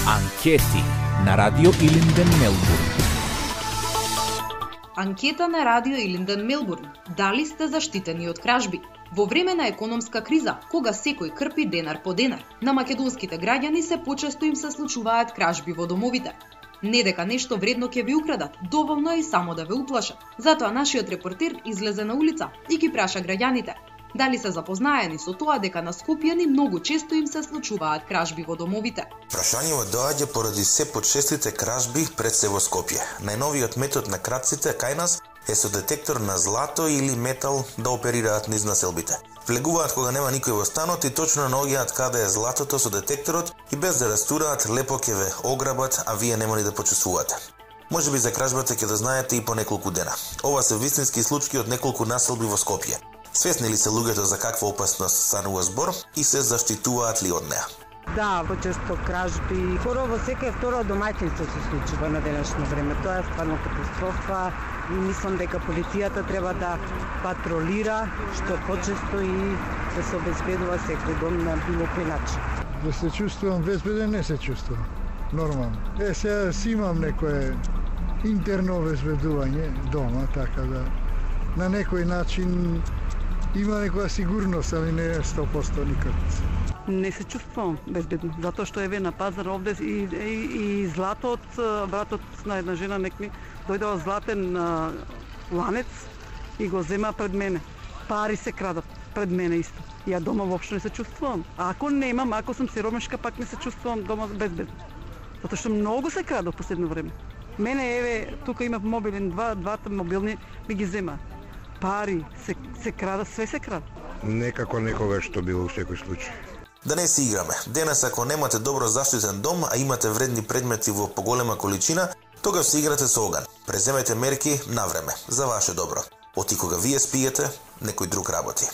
Анкети на Радио Илинден Мелбурн. Анкета на Радио Илинден Мелбурн. Дали сте заштитени од кражби? Во време на економска криза, кога секој крпи денар по денар, на македонските граѓани се почесто им се случуваат кражби во домовите. Не дека нешто вредно ќе ви украдат, доволно е и само да ве уплашат. Затоа нашиот репортер излезе на улица и ги праша граѓаните дали се запознаени со тоа дека на скопјани многу често им се случуваат кражби во домовите. Прашањето доаѓа поради се почестите кражби пред се во Скопје. Најновиот метод на крадците кај нас е со детектор на злато или метал да оперираат низ населбите. Влегуваат кога нема никој во станот и точно наоѓаат каде е златото со детекторот и без да растураат лепо ќе ве ограбат, а вие нема ни да почувствувате. Можеби за кражбата ќе дознаете и по неколку дена. Ова се вистински случаи од неколку населби во Скопје. Свесни ли се луѓето за каква опасност станува збор и се заштитуваат ли од неа? Да, почесто кражби. Скоро во секој второ домаќинство се случува на денешно време. Тоа е стварно катастрофа и мислам дека полицијата треба да патролира што почесто и да се обезбедува секој дом на било кој начин. Да се чувствувам безбеден, не се чувствувам. Нормално. Сега си имам некое интерно обезбедување дома, така да на некој начин има некоја сигурност, али не е 100% никако. Не се чувствувам безбедно, затоа што еве на пазар овде и злато од братот на една жена некми дојдоа златен ланец и го зема пред мене. Пари се крадат пред мене исто. Ја дома воопшто не се чувствувам. А ако немам, ако сум сиромашка, пак не се чувствувам дома безбедно. Затоа што многу се краде во последно време. Мене еве тука има мобилен, двата мобилни ми ги зема. Пари се крада, све се крада. Некако некогаш што било во секој случај. Да не си играме. Денес ако немате добро заштитен дом, а имате вредни предмети во поголема количина, тогаш се играте со оган. Преземете мерки на време, за ваше добро. Оти кога вие спиете, некој друг работи.